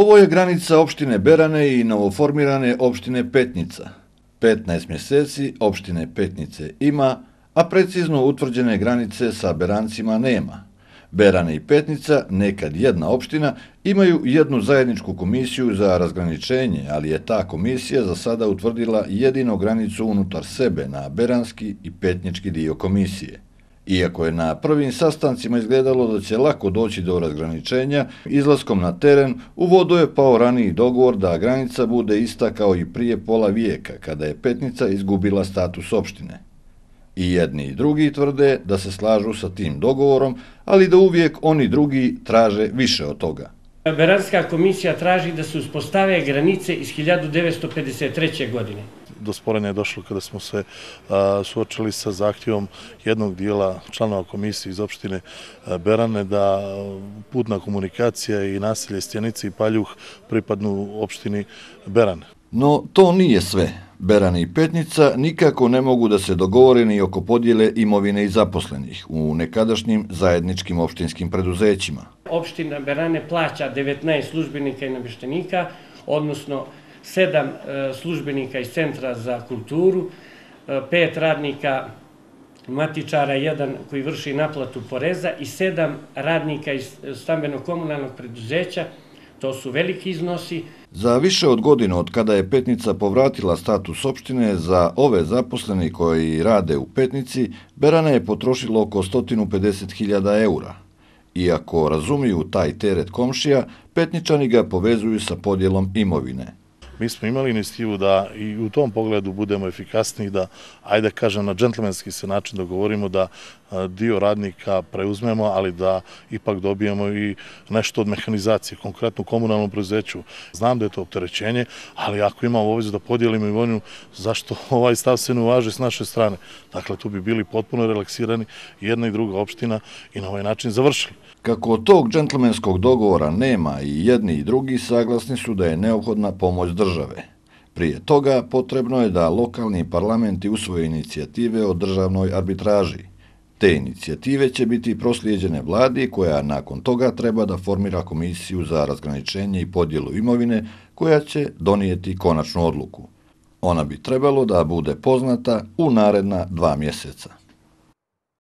Ovo je granica opštine Berane i novoformirane opštine Petnica. 15 mjeseci opštine Petnice ima, a precizno utvrđene granice sa Berancima nema. Berane i Petnica, nekad jedna opština, imaju jednu zajedničku komisiju za razgraničenje, ali je ta komisija za sada utvrdila jedino granicu unutar sebe na beranski i petnički dio komisije. Iako je na prvim sastancima izgledalo da će lako doći do razgraničenja, izlaskom na teren u vodu je pao raniji dogovor da granica bude ista kao i prije pola vijeka, kada je Petnica izgubila status opštine. I jedni i drugi tvrde da se slažu sa tim dogovorom, ali da uvijek oni drugi traže više od toga. Beranska komisija traži da se uspostave granice iz 1953. godine. Do sporenja je došlo kada smo se suočili sa zahtjevom jednog dijela članova komisije iz opštine Berane da putna komunikacija i naselje Stjenice i Paljuh pripadnu opštini Berane. No, to nije sve. Berane i Petnica nikako ne mogu da se dogovore ni oko podjele imovine i zaposlenih u nekadašnjim zajedničkim opštinskim preduzećima. Opština Berane plaća 19 službenika i namještenika, odnosno 7 službenika iz Centra za kulturu, 5 radnika matičara, 1 koji vrši naplatu poreza i 7 radnika iz stambeno-komunalnog preduzeća. To su veliki iznosi. Za više od godinu od kada je Petnica povratila status opštine, za ove zaposleni koji rade u Petnici, Berane je potrošilo oko 150.000 eura. Iako razumiju taj teret komšija, Petničani ga povezuju sa podjelom imovine. Mi smo imali inicijativu da i u tom pogledu budemo efikasniji, da, ajde kažem, na džentlmenski se način dogovorimo da dio radnika preuzmemo, ali da ipak dobijemo i nešto od mehanizacije, konkretno u komunalnom preduzeću. Znam da je to opterećenje, ali ako imamo obavezu da podijelimo imovinu, zašto ovaj stav se ne uvaži s naše strane? Dakle, tu bi bili potpuno relaksirani jedna i druga opština i na ovaj način završili. Kako od tog džentlmenskog dogovora nema i jedni i drugi saglasni su da je neophodna pomoć države. Prije toga potrebno je da lokalni parlamenti usvoje inicijative o državnoj arbitraži. Te inicijative će biti proslijeđene vladi koja nakon toga treba da formira komisiju za razgraničenje i podjelu imovine koja će donijeti konačnu odluku. Ona bi trebalo da bude poznata u naredna 2 mjeseca.